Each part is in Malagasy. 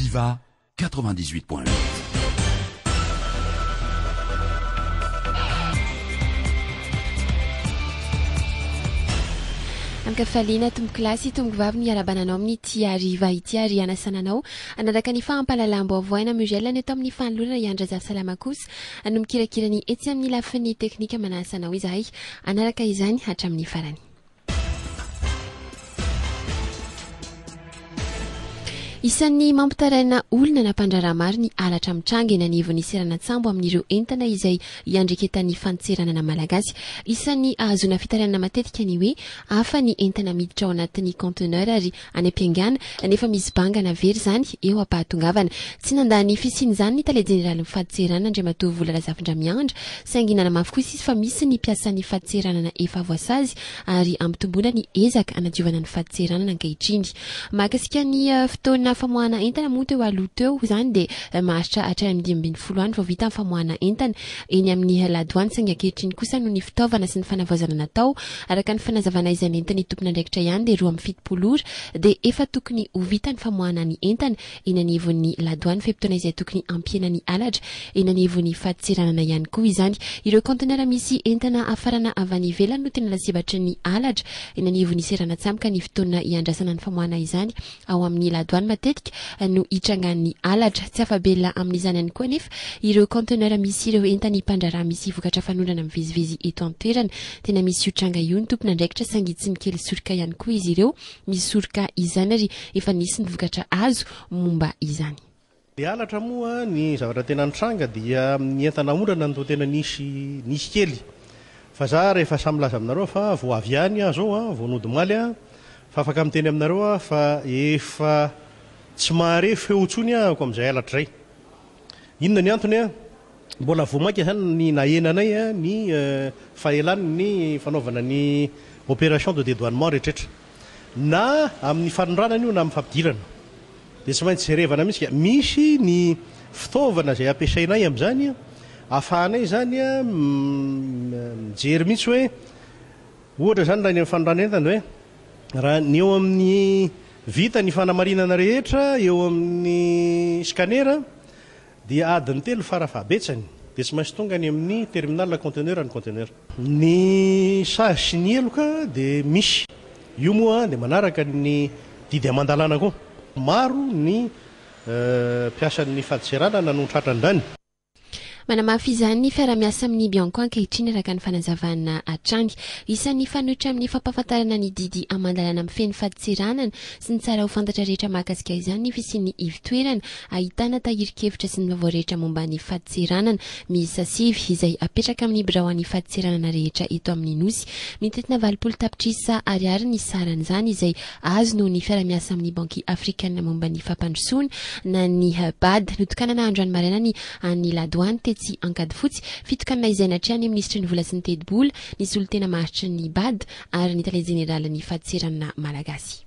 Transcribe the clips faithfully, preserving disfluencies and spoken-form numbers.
Viva quatre-vingt-dix-huit point huit. Ankafaliana tompokolahy sy tompokovavy ny arabananao amin'ity hariva ity ary anasananao hanaraka ny fampahalalam-baovao aina Muriel ny eto amin'ny fanolorana i Andry Salama kosa no mikirakira ny etsy amin'ny lafiny teknika manasanao izahay hanaraka izany hatramin'ny farany. Isan'ny mampitaraina olona na mpandraharaha maro ny halatra mitranga eny anivon'ny seranan-tsambo amin'ireo entana izay iandreketan'ny fadintseranana malagasy. Isan'ny ahazoana fitarainana matetika ny hoe hafa ny entana miditra ao anatin'ny conteneur ary any am-piaingàna nefa misy bangana very izany eo am-pahatongavana. Tsy nandà ny fisian'izany ny tale jeneralin'ny fadintseranana Andriamatoa Vola Razafindramiandra, saingy nanamafy kosa izy fa misy ny mpiasan'ny fadintseranana efa voasazy ary ampitomboana ny ezaka hanadiovana ny fadintseranana ankehitriny. Mahakasika ny fotoana famoahana entana moa teo aloha teo izany dia maharitra hatrany amin'ny dimy ambin'ny folo andro vao vita ny famoahana entana eny amin'ny ladoany, saingy ankehitriny kosa noho ny fitaovana sy ny fanavaozana natao araka ny fanazavana izay nentin'ny tompon'andraikitra ihany dia roa amby fitopolo ora dia efa tokony ho vita ny famoahana ny entana eny anivon'ny ladoany, fe-potoana izay tokony hampihena ny halatra eny anivon'ny fadintseranana ihany koa izany. Ireo conteneur misy entana hafarana avy any ivelany no tena lasibatry ny halatra eny anivon'ny seranan-tsambo ka ny fotoana hiandrasana ny famoahana izany ao amin'ny ladoany matetika no hitrangan'ny halatra. Tsy afa-belona amin'izany ihany koa nefa ireo conteneur misy ireo entany mpandraharaha misy vokatra fanondrana mivezivezy eto an-toerana. Tena misy io tranga io ny tompon'andraikitra saingy tsy mikely soroka ihany koa izy ireo misoroka izany ary efa nisy ny vokatra azo momba izany. Ny halatra moa ny zavatra tena nitranga dia ny entana ondrana no tena nisy nisy kely. Fa za rehefa samy milaza aminareo fa vao avy ihany aho zao a, vao nody omaly aho, fa afaka miteny aminareo aho fa efa tsy mahare feo intsony ahako amin'izay halatra izay. Inona ny antony a? Mbola vao mainka zany ny nahenanay a ny fahelan'ny fanaovana ny opération de dédouanement rehetrarehetra. Na amin'ny fanondranana io na amin'ny fampidirana. Dia tsy maintsy jerevana mihitsy ka misy ny fitaovana izay ampiasainay amin'izany ahafahanay zany a mijery mihitsy hoe ohatra zany raha ny amin'ny fanondranana entana hoe raha ny eo amin'ny vita ny fanamarinana rehetra eo amin'ny scanner dia adiny telo farafahabetsany dia tsy maintsy tonga any amin'ny terminal conteneur ny conteneur. Ny sazy sy ny heloka dia misy io moa dia manaraka ny didy aman-dalàna koa. Maro ny mpiasan'ny fadintseranana no tratran'izany. Manamafy izany ny fiarahamiasa amin'ny Bianco ankehitriny araka ny fanazavana hatrany. Isan'ny fanoitra amin'ny fampahafantarana ny didy aman-dalàna mifehy ny fadintseranana sy ny tsara ho fantatra rehetra mahakasika izany ny fisian'ny ivotoerana ahitana tahirin-kevitra sy ny vaovao rehetra momba ny fadintseranana miisa sivy izay apetraka amin'ny birao an'ny fadintseranana rehetra eto amin'ny Nosy. Mitentina valopolo tapitrisa ariary ny saran'izany izay azo noho ny fiarahamiasa amin'ny Banky Afrikana momba ny fampandrosoana na ny B A D. Notokanana androany maraina ny an'ny ladoany tetsy Ankadifotsy, fitokanana izay natrehan'ny minisitry ny vola sy ny tetibola, ny solontena maharitry ny B A D ary ny tale jeneralin'ny fadintseranana malagasy.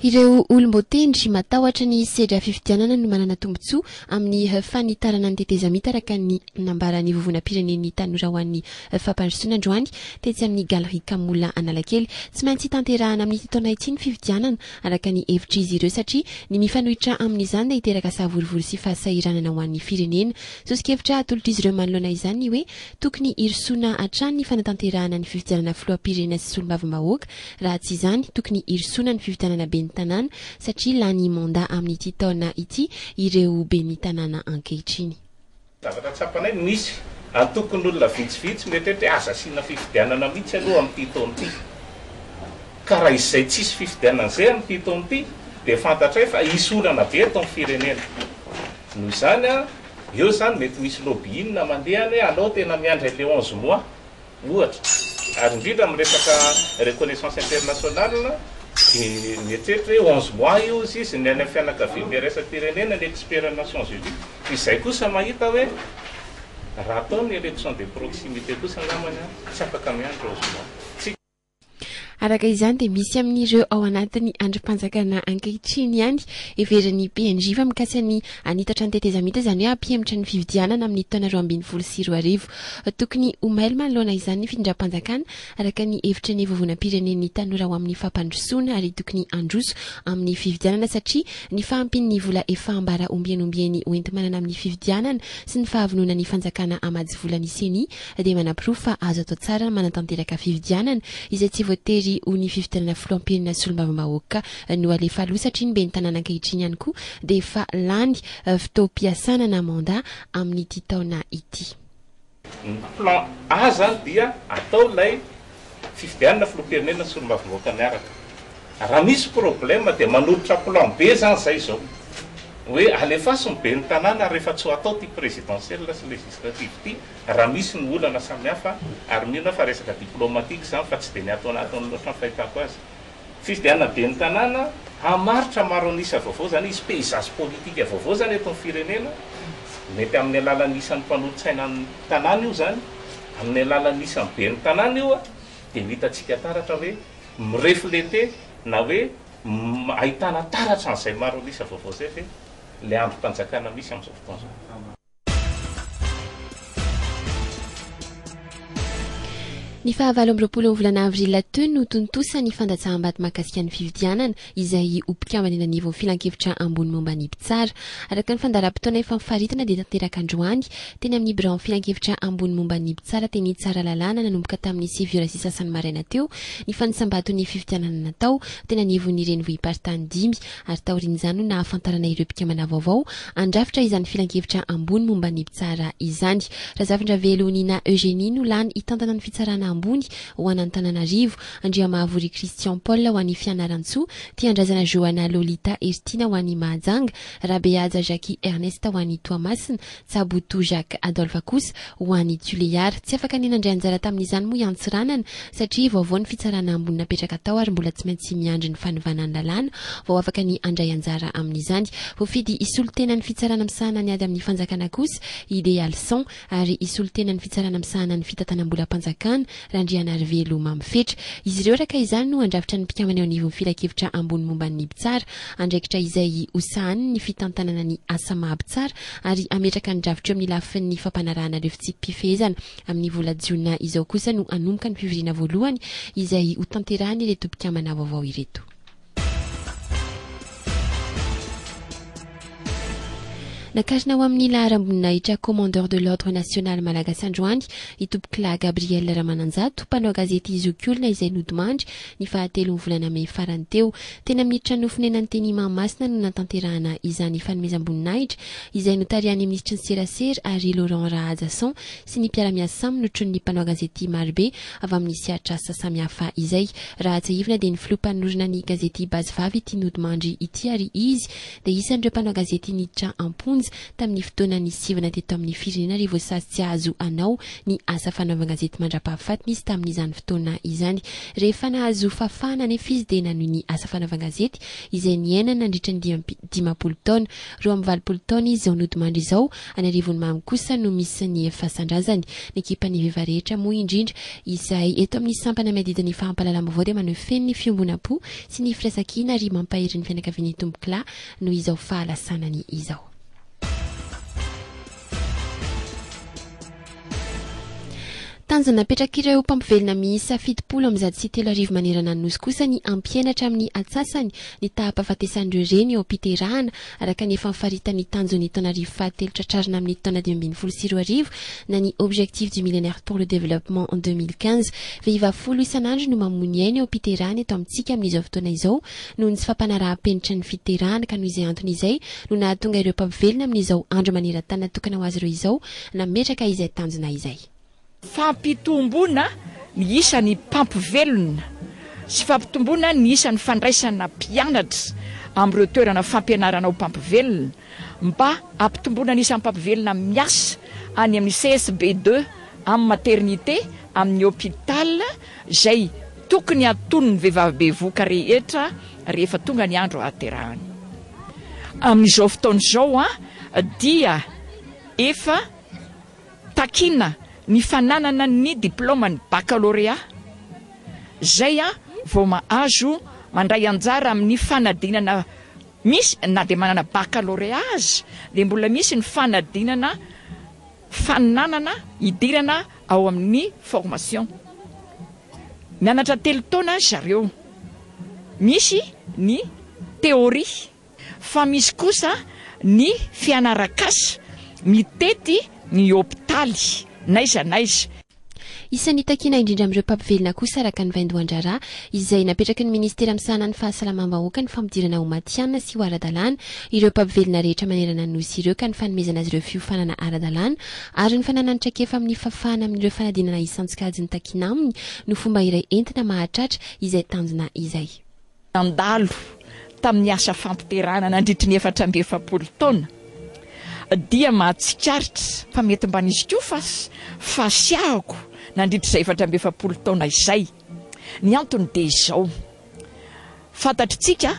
Ireo olom-boatendry matahotra ny sedra fifidianana no manana tombontsoa amin'ny fanitarana ny tetezamita araka ny nambaran'ny vovonam-pirenen'ny tanora ho an'ny fampandrosoana androany tetsy amin'ny Galerie Kamola Analakely. Tsy maintsy tanterahana amin'ity taona ity ny fifidianana araka ny hevitr'izy ireo satria ny mifanohitra amin'izany dia hiteraka savorovoro sy fahasahiranana ho an'ny firenena. Soso-kevitra atolotr'izy ireo manoloana izany ny hoe tokony hirosoana hatrany ny fanatanterahana ny fifidianana filoham-pirenena sy solombavambahoaka, raha tsy izany tokony hirosoana ny fifidianana ben'ny tanàna satria lany mandat amin'ity taona ity ireo ben'ny tanàna ankehitriny. Zavatra tsapanay misy antokon'olona vitsivitsy mieritreritra hoe aza asiana fifidianana mihitsy aloha amin'ity taona ity. Ka raha izay tsisy fifidianana izay amin'ity taona ity dia fantatray fa hisy olana be eto amin'ny firenena. Noho izany a, eo izany mety misy lobbying mandeha any hoe alao tena miandry le onze mois ohatra. Ary indrindra amin'ny resaka reconnaissance internationale dia mieritreritra hoe onze mois io izy, izy ny any amin'ny fianakaviambe iraisam-pirenena, ny expert ny Nations Unies. Izay kosa mahita hoe raha atao ny élection de proximité kosa angambany a, tsy afaka miandry onze mois. Tsy Araka izany dia misy amin'ireo ao anatin'ny andrim-panjakana ankehitriny ihany heverin'ny P N J fa mikasa ny hanitatra ny tetezamita, izany hoe hampihemotra ny fifidianana amin'ny taona roa ambin'ny folo sy roa arivo. Tokony ho mailo manoloana izany ny fitondram-panjakana araka ny hevitra ny vovonam-pirenen'ny tanora ho amin'ny fampandrosoana, ary tokony handroso amin'ny fifidianana satria ny fahampian'ny vola efa ambara ombieny ombieny hoenti-manana amin'ny fifidianana sy ny fahavononan'ny fanjakana hamatsy vola ny CENI dia manaporofo fa azo atao tsara ny manatanteraka fifidianana izay tsy voatery ho ny fifidianana filoham-pirenena solombavambahoaka no alefa aloha, satria ny ben'ny tanàna ankehitriny ihany koa dia efa lany fotoam-piasana na mandat amin'ity taona ity. Ny plan A zany dia atao ilay fifidianana filoham-pirenena solombavambahoaka miaraka. Raha misy problème dia manolotra plan B zany zay zao hoe alefaso ny ben'ny tanàna rehefa tsy ho atao ty présidentielle sy législative ty, raha misy ny olana samihafa. Ary mino fa resaka diplomatique zany fa tsy de ny atao anatiny loatra ny fahitako azy. Fifidianana ben'ny tanàna hamaritra maro an'isa vaovao zany izy, paysage politique vaovao zany eto amin'ny firenena, mety amin'ny alalan'ny isan'ny mpanolotsaina ny tanàna io zany, amin'ny alalan'ny isan'ny ben'ny tanàna io a dia hitantsika taratra hoe mireflete na hoe ahitana taratra an'izay maro an'isa vaovao zay ve le andrim-panjakana misy amin'izao fotoana izao. Ny fahavalo amby roapolo volana avril teo no tontosa ny fandatsaham-bato mahakasika ny fifidianana izay ho mpikambana eny anivon'ny filankevitra ambony momba ny mpitsara. Araka ny fandaharam-potoana efa mifaritana dia tanteraka androany teny amin'ny birao filankevitra ambony momba ny mpitsara teny Tsaralalàna nanomboka tamin'ny sivy ora sy sasany maraina teo ny fanisam-baton'ny fifidianana natao teny anivon'ny renivohi-paritany dimy, ary taorian'izany no nahafantarana ireo mpikambana vaovao handrafitra izany filankevitra ambony momba ny mpitsara izany. Razafindravelo Nina Eugénie no lany hitantana ny fitsarana ambony ho an'Antananarivo, Andriamahavory Christian Paul ho an'ny Fianarantsoa, Tiandrazana Johanna Lolita Heritiana ho an'ny Mahajanga, Rabehaja Jackie Ernest ho an'ny Toamasina, Tsaboto Jacques Adolphe kosa ho an'ny Tuléar. Tsy afaka ny nandray anjara tamin'izany moa i Antsiranana satria vaovao ny fitsarana ambony napetraka tao ary mbola tsy maintsy miandry ny fanovana ny lalàna vao afaka ny handray anjara amin'izany. Voafidy hisolo tena ny fitsarana misahana ny ady amin'ny fanjakana kosa Idealson, ary hisolo tena ny fitsarana misahana ny fitantanam-bolam-panjakana Randrianarivelo Mamifetra. Izy ireo araka izany no handrafitra ny mpikambana eo anivon'ny filankevitra ambony momba ny mpitsara, andraikitra izay hosahaniny ny fitantanana ny asa maha-mpitsara ary hametraka ny drafitra eo amin'ny lafin'ny fampanarahana ireo fitsipi-pifehezana. Amin'ny vola jiona izao kosa no hanomboka ny fivoriana voalohany izay hotanterahany ireto mpikambana vaovao ireto. Nakarina ho amin'ny laharam-boninahitra commandeur de l'ordre national malagasy androany i Tompokolahy Gabriel Ramananjato, mpanao gazety zokiolona izay nodimandry ny fahatelo ny volana mey farany teo. Teny amin'ny trano fonenany teny Mahamasina no natanterahana izany fanomezam-boninahitra izay notarihan'ny minisitry ny serasera ary Laurent Rahajason sy ny mpiara-miasa aminy notron'ny mpanao gazety marobe avy amin'ny sehatr'asa samihafa izay. Raha tsiahivina dia ny filoha mpanorina ny gazety Base Vavy ity nodimandry ity, ary izy dia isan'ireo mpanao gazety niditra am-ponja tamin'ny fotoana nisivana teto amin'ny firenena ary voasazy tsy azo anao ny asa fanaovan-gazety mandra-pahafatiny izy tamin'izany fotoana izany. Rehefa nahazo fahafahana nefa izy dia nanohy ny asa fanaovan-gazety izay niainana nandritra ny dimampolo taona. Roa amby valopolo taona izy izao nodimandry izao. Any Arivonimamo kosa no misy ny fasan-drazany. Ny ekipan'ny vehivavy rehetra moa indrindra izay eto amin'ny sampana miadidy ny fampahalalam-baovao dia maneho feno ny fiombonam-po sy ny firaisankina ary mampahery ny fianakavian'ny Tompokolahy noho izao fahalasanany izao. Tanjona napetrak'ireo mpampivelona miisa fitopolo amby zato sy telo arivo manerana ny nosy kosa ny hampihenatra amin'ny atsasany ny taham-pahafatesan'ireo reny eo am-piterahana araka ny efa nifaritan'ny tanjon'ny taona arivo fahatelo tratrarina amin'ny taona dimy ambin'ny folo sy roa arivo na ny objectif du millénaire pour le développement en deux mille quinze. Vehivavy folo isan'andro no mamoy ny ainy eo am-piterahana eto amintsika amin'izao fotoana izao noho ny tsy fampanaraham-penitra ny fiterahana, ka noho izay antony izay no nahatonga ireo mpampivelona amin'izao andro maneran-tany natokana ho azy ireo izao nametraka izay tanjona izay. Fampitomboana ny isan'ny mpampivelona sy fampitomboana ny isan'ny fandraisana mpianatra amin'ireo toerana fampianarana ho mpampivelona mba hampitomboana ny isan'ny mpampivelona miasa any amin'ny C S B deux, amin'ny maternité, amin'ny hôpital izay tokony haton'ny vehivavy bevoka rehetra rehefa tonga ny andro hahaterahany. Amin'izao fotoana izao a dia efa takina ny fananana ny diplaoman'ny baccalauréat izay a vao mahazo mandray anjara amin'ny fanadinana. Misy na dia manana baccalauréat azy dia mbola misy ny fanadinana faninanana hidirana ao amin'ny formation. Mianatra telo taona zareo, misy ny théorie fa misy kosa ny fianarakasa mitety ny hopitaly n'aiza n'aiza. Isan'ny takiana indrindra amin'ireo mpampivelona kosa araka ny vaindohan-draharaha izay napetraky ny ministera misahana ny fahasalamam-bahoaka ny fampidirana ho matihanina sy ho ara-dalàna ireo mpampivelona rehetra manerana ny nosy ireo, ka ny fanomezana azy ireo fiofanana ara-dalàna ary ny fananany traikefa amin'ny fahafahana amin'ireo fanadinana isan-tsokajiny takiana aminy no fomba iray entina mahatratra izay tanjona izay. Nandalo tamin'ny asa fampiterahana nandritry ny efatra amby efapolo taona dia mahatsikaritra fa mety mba nisy koa fa fasiahako nandritry izay efatra amby efapolo taona izay. Ny antony dia izao: fantatritsika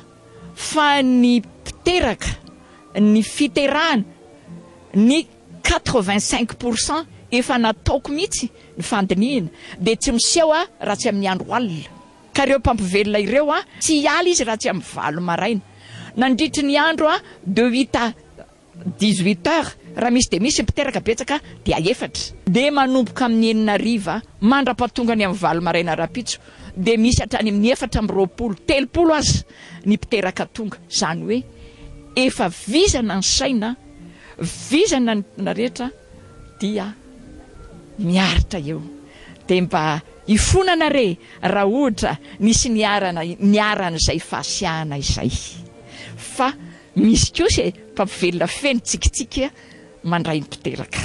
fa ny mpiteraka, ny fiterahana, ny quatre-vingt-cinq pour cent efa nataoko mihitsy ny fandinihina dia tsy miseho a raha tsy amin'ny andro alina. Ka ireo mpampivelona ireo a tsy hiala izy raha tsy amin'ny valo maraina. Nandritry ny andro a de huit à dix-huit heures, raha misy dia misy mpiteraka betsaka dia efatra. Dia manomboka amin'ny enina hariva mandra-pahatongany amin'ny valo maraina rahampitso dia misy hatrany amin'ny efatra amby roapolo, telopolo aza ny mpiteraka tonga. Izany hoe efa vizana ny saina, vizana ny rehetra dia miaritra eo. Dia mba hifonana re raha ohatra nisy niarana niaran'izay fahasiahana izay. Fa misy kosa e mpampivelona feno tsikitsiky mandray ny mpiteraka.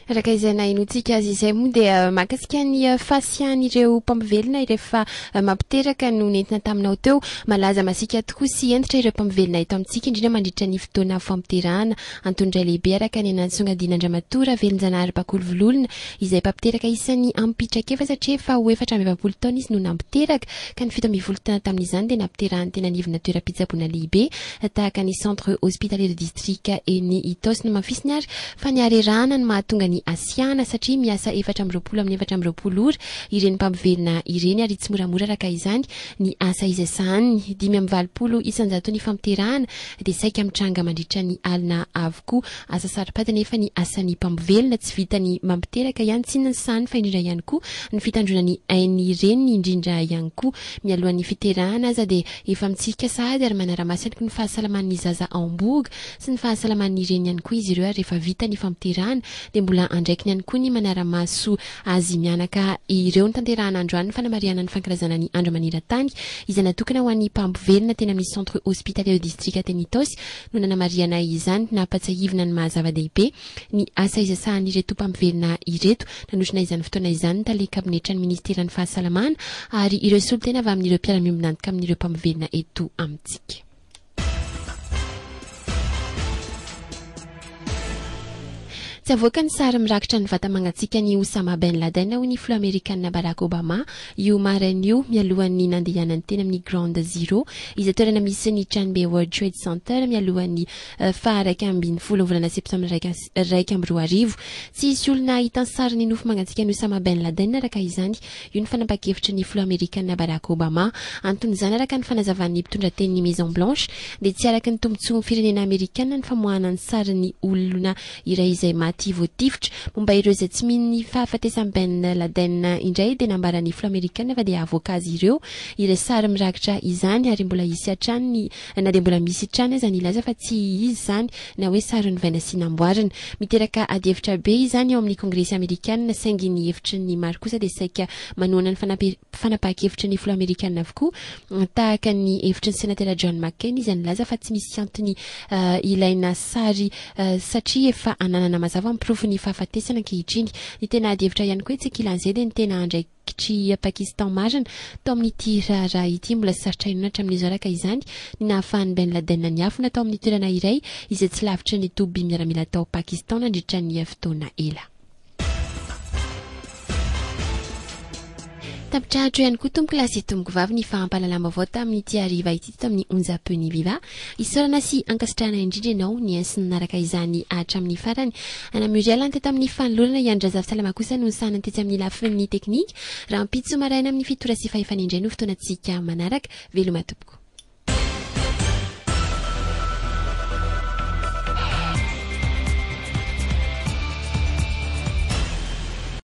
Araka izay nahenoantsika azy izay moa dia mahakasika ny fahasiahan'ireo mpampivelona rehefa mampiteraka no nentina taminao teo. Malaza masiaka tokoa sy hentitra ireo mpampivelona eto amintsika, indrindra mandritra ny fotoana fampiterahana. Antony iray lehibe araka ny nantsongadin'Andriamatoa Ravelonjanahary Bakolovololona izay mpampiteraka isan'ny ampitrakefa satria efa ho efatra amby efapolo taona izy no nampiteraka, ka ny fito ambin'ny folo taona tamin'izany dia nampiterahany teny anivona toeram-pitsaboana lehibe tahaka ny centre hospitalier de district eny Itaosy. Nomafisiny ary fa ny harerahana no mahatonga ny asiana satria miasa efatra amby roapolo amin'ny efatra amby roapolo ora ireny mpampivelona ireny ary tsy moramora araka izany ny asa izay sahaniny. Dimy amby valopolo isan-jato ny fampiterahana dia saika mitranga mandritra ny alina avokoa. Asa saro-pady nefa ny asan'ny mpampivelona, tsy vita ny mampiteraka ihany tsy ny sahany fa indrindra ihany koa ny fitandroana ny ain'ny reniny indrindra ihany koa. Mialohan'ny fiterahana aza dia efa mitsirika sahady ary manara-maso ihany koa ny fahasalaman'ny zaza ao am-bohoka sy ny fahasalaman'ny reniny ihany koa izy ireo. Ary rehefa vita ny fampiterahana dia mbola andraikiny ihany koa ny manara-maso azy mianaka ireo. Ny tanterahana androany ny fanamarihana ny fankalazana ny andro maneran-tany izay natokana ho an'ny mpampivelona teny amin'ny centre hospitalier de district teny Itaosy no nanamarihana izany. Nampatsiahivina ny maha-zava-dehibe ny asa izay sahan'ireto mpampivelona ireto. Nanotrona izany fotoana izany ny tale kabinetran'ny ministeran'ny fahasalamana ary ireo solontena avy amin'ireo mpiara-miombon'antoka amin'ireo mpampivelona eto amintsika. Tsy avoaka ny sary mirakitra ny vata-mangatsiaka ny Osama Ben Laden hoy ny filoha amerikanina Barack Obama io maraina io mialohan'ny nandehanany teny amin'ny Ground Zero izay toerana misy ny tranobe World Trade Center mialohan'ny faha-iraika ambin'ny folo volana septambra iraika amby roa arivo. Tsy hisy olona hahita ny sarin'ny nofo mangatsiaka ny Osama Ben Laden araka izany io ny fanapahan-kevitry ny filoha amerikanina Barack Obama. Anton'izany araka ny fanazavan'ny mpitondra tenin'ny Maison Blanche dia tsy araka ny tombontsoan'ny firenena amerikanina ny famoahana ny sarin'ny olona iray izay maty voatifitra. Momba ireo izay tsy mino ny fahafatesan'i Ben Laden indray dia nambaran'ny filoha amerikanina fa dia avoaka azy ireo ireo sary mirakitra izany ary mbola hisy hatrany na dia mbola misy hatrany aza ny ilaza fa tsy izy izany na hoe sary novaina sy namboarina. Miteraka adihevitra be izany eo amin'ny kongresy amerikanina, saingy ny hevitry ny maro kosa dia saika manohana ny fanapahan-kevitry ny filoha amerikanina avokoa, tahaka ny hevitry ny senatera John McCain izay nilaza fa tsy misy antony ilaina sary satria efa ananana mazava ny porofon'ny fahafatesana ankehitriny. Ny tena adihevitra ihany koa etsy ankilan'izay dia ny tena andraikitry Pakistan marina tao amin'ity raharaha ity. Mbola sarotra inoana hatramin'izao araka izany ny nahafahan'i Ben Laden niafina tao amin'ny toerana iray izay tsy lavitry ny toby miaramila tao Pakistan nandritra ny fotoana ela. Tapitra hatreo ihany koa tompoko lahy sy tompoko vavy ny fampahalalam-baovao tamin'ity hariva ity teto amin'ny onjam-peon'ny Viva. Isaorana sy ankasitrahana indrindra ianao nihaino sy nanaraka izany hatramin'ny farany. Ana Muriel ny teto amin'ny fanolorana, i Andry Razafintsalama kosa no nisahana tetsy amin'ny lafiny teknika. Rahampitso maraina amin'ny fito ora sy fahefana indray no fotoanantsika manaraka. Veloma tompoko.